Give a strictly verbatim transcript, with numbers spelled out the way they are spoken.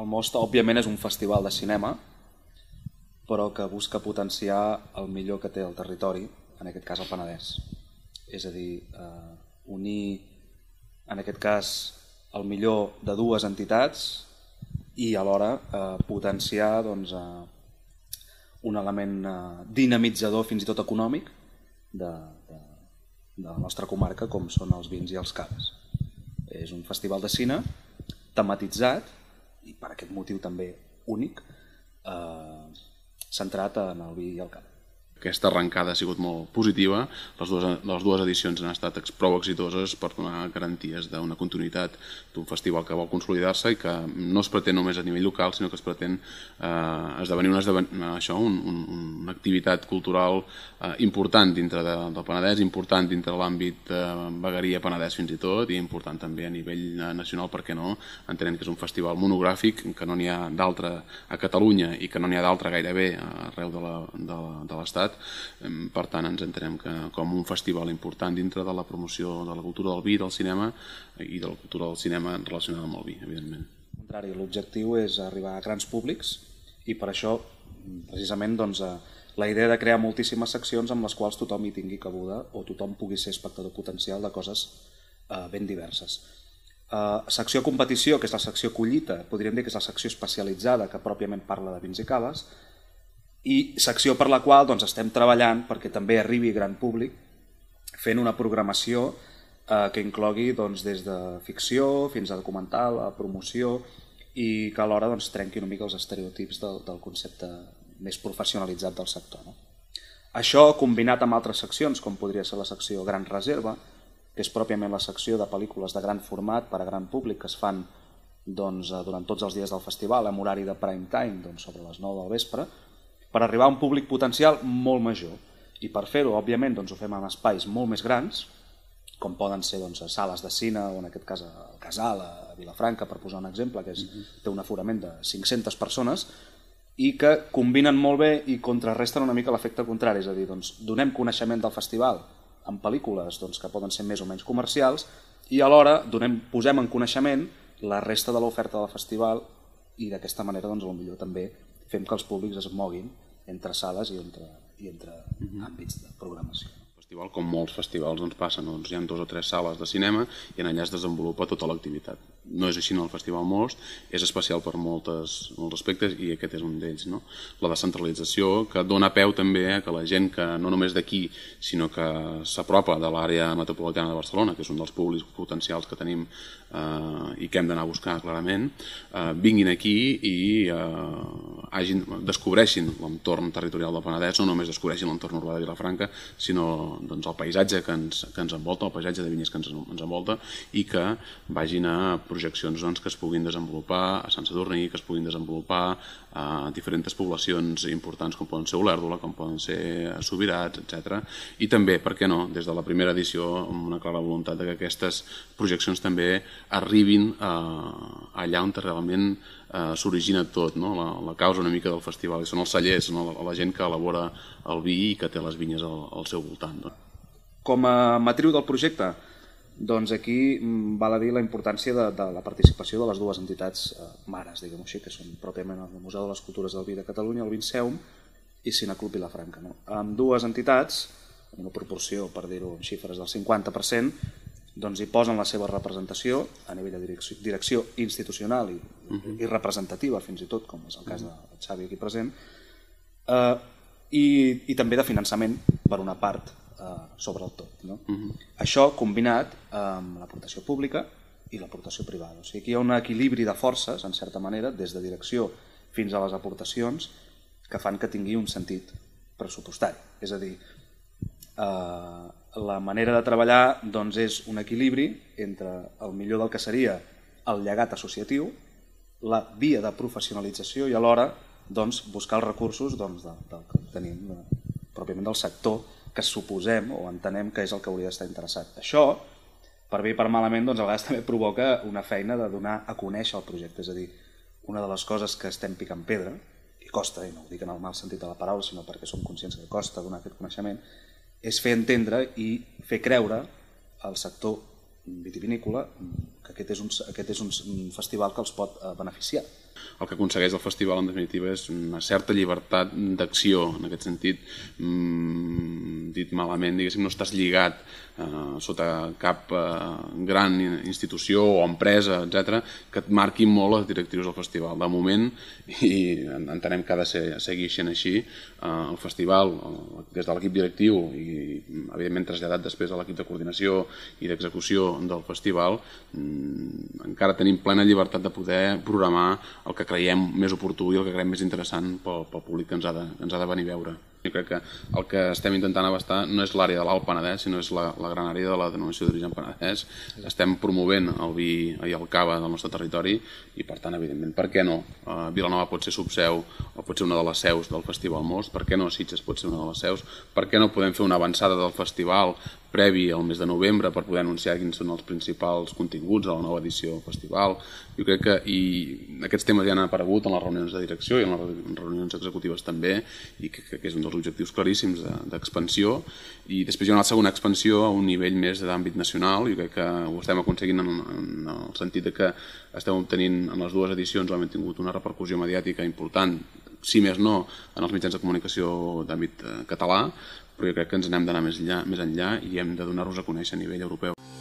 el Most, òbviament, és un festival de cinema, però que busca potenciar el millor que té el territori, en aquest cas el Penedès. És a dir, eh, unir, en aquest cas, el millor de dues entitats i alhora eh, potenciar doncs, eh, un element eh, dinamitzador, fins i tot econòmic, de, de, de la nostra comarca, com són els vins i els caves. És un festival de cine tematitzat, i per aquest motiu també únic, eh, centrat en el vi i el cava. Aquesta arrencada ha sigut molt positiva, les dues, les dues edicions han estat prou exitoses per donar garanties d'una continuïtat d'un festival que vol consolidar-se i que no es pretén només a nivell local, sinó que es pretén eh, esdevenir una, això, un, un, una activitat cultural eh, important dintre de, del Penedès, important dintre de l'àmbit de vegueria Penedès fins i tot, i important també a nivell nacional, per què no, entenent que és un festival monogràfic, que no n'hi ha d'altre a Catalunya i que no n'hi ha d'altre gairebé arreu de l'Estat. Per tant, ens entenem que com un festival important dintre de la promoció de la cultura del vi, del cinema i de la cultura del cinema relacionada amb el vi, evidentment. Al contrari, l'objectiu és arribar a grans públics i per això, precisament, doncs, la idea de crear moltíssimes seccions amb les quals tothom hi tingui cabuda o tothom pugui ser espectador potencial de coses eh, ben diverses. Eh, secció competició, que és la secció collita, podríem dir que és la secció especialitzada que pròpiament parla de vins i caves, i secció per la qual doncs, estem treballant perquè també arribi gran públic fent una programació eh, que inclogui doncs, des de ficció fins a documental, a promoció i que alhora doncs, trenqui una mica els estereotips del, del concepte més professionalitzat del sector. No? Això combinat amb altres seccions com podria ser la secció Gran Reserva, que és pròpiament la secció de pel·lícules de gran format per a gran públic que es fan doncs, durant tots els dies del festival amb horari de prime time doncs, sobre les nou del vespre, per arribar a un públic potencial molt major. I per fer-ho, òbviament, doncs, ho fem en espais molt més grans, com poden ser doncs, sales de cine, o en aquest cas el Casal, a Vilafranca, per posar un exemple, que és, té un aforament de cinc-centes persones, i que combinen molt bé i contrarresten una mica l'efecte contrari, és a dir, doncs, donem coneixement del festival en pel·lícules doncs, que poden ser més o menys comercials, i alhora donem, posem en coneixement la resta de l'oferta del festival i d'aquesta manera doncs, potser també fem que els públics es moguin entre sales i entre, i entre àmbits de programació. El festival, com molts festivals, doncs passa, doncs, hi ha dues o tres sales de cinema i en allà es desenvolupa tota l'activitat. No és així en el Festival Most, és especial per moltes, molts aspectes i aquest és un d'ells. No? La descentralització, que dona peu també a que la gent que no només d'aquí, sinó que s'apropa de l'àrea metropolitana de Barcelona, que és un dels públics potencials que tenim eh, i que hem d'anar a buscar clarament, eh, vinguin aquí i eh, hagin, descobreixin l'entorn territorial del Penedès, no només descobreixin l'entorn urbà de Vilafranca, sinó doncs, el paisatge que ens, que ens envolta, el paisatge de vinyes que ens, ens envolta i que vagin a projeccions doncs, que es puguin desenvolupar a Sant Sadurní, que es puguin desenvolupar a diferents poblacions importants com poden ser Olèrdola, com poden ser Subirats, etcètera. I també, per què no, des de la primera edició amb una clara voluntat que aquestes projeccions també arribin a, allà on realment eh, s'origina tot, no? la, la causa una mica del festival, i són els cellers, no? la, la gent que elabora el vi i que té les vinyes al, al seu voltant. No? Com a matriu del projecte, doncs aquí val a dir la importància de, de la participació de les dues entitats eh, mares, diguem-ho així, que són pròpiament el Museu de les Cultures del Vi de Catalunya, el Vinceum, i Cineclub Vilafranca. No? Amb dues entitats, en una proporció, per dir-ho en xifres, del cinquanta per cent, doncs hi posen la seva representació a nivell de direcció, direcció institucional i, uh-huh. i representativa, fins i tot, com és el cas de Xavi aquí present, eh, i, i també de finançament, per una part, sobre el tot. No? Uh-huh. Això combinat amb l'aportació pública i l'aportació privada. O sigui, aquí hi ha un equilibri de forces, en certa manera, des de direcció fins a les aportacions, que fan que tingui un sentit pressupostari. És a dir, eh, la manera de treballar doncs, és un equilibri entre el millor del que seria el llegat associatiu, la via de professionalització i alhora doncs, buscar els recursos doncs, del, del que tenim, de, pròpiament del sector, que suposem o entenem que és el que hauria d'estar interessat. Això, per bé i per malament, doncs a vegades també provoca una feina de donar a conèixer el projecte. És a dir, una de les coses que estem picant pedra, i costa, i no ho dic en el mal sentit de la paraula, sinó perquè som conscients que costa donar aquest coneixement, és fer entendre i fer creure al sector vitivinícola que aquest és un, aquest és un festival que els pot beneficiar. El que aconsegueix el festival, en definitiva, és una certa llibertat d'acció, en aquest sentit, mmm, dit malament, diguéssim, no estàs lligat eh, sota cap eh, gran institució o empresa, etcètera, que et marquin molt les directrius del festival. De moment, i entenem que ha de ser, seguir sent així, eh, el festival, des de l'equip directiu i, evidentment, traslladat després a l'equip de coordinació i d'execució del festival, mmm, encara tenim plena llibertat de poder programar el que creiem més oportú i el que creiem més interessant pel, pel públic que ens ha, de, ens ha de venir a veure. Jo crec que el que estem intentant abastar no és l'àrea de l'Alt Penedès, sinó és la, la gran àrea de la denominació d'origen Penedès. Estem promovent el vi i el cava del nostre territori i, per tant, evidentment, per què no? Uh, Vilanova pot ser subseu o pot ser una de les seus del Festival Most, per què no Sitges pot ser una de les seus, per què no podem fer una avançada del festival previ al mes de novembre per poder anunciar quins són els principals continguts de la nova edició del festival. Jo crec que i aquests temes ja han aparegut en les reunions de direcció i en les reunions executives també, i que, que és un dels objectius claríssims d'expansió. I després hi ha una segona expansió a un nivell més d'àmbit nacional. Jo crec que ho estem aconseguint en, en el sentit que estem obtenint en les dues edicions o hem tingut una repercussió mediàtica important, si més no, en els mitjans de comunicació d'àmbit català, però jo crec que ens n'hem d'anar més enllà, més enllà i hem de donar-nos a conèixer a nivell europeu.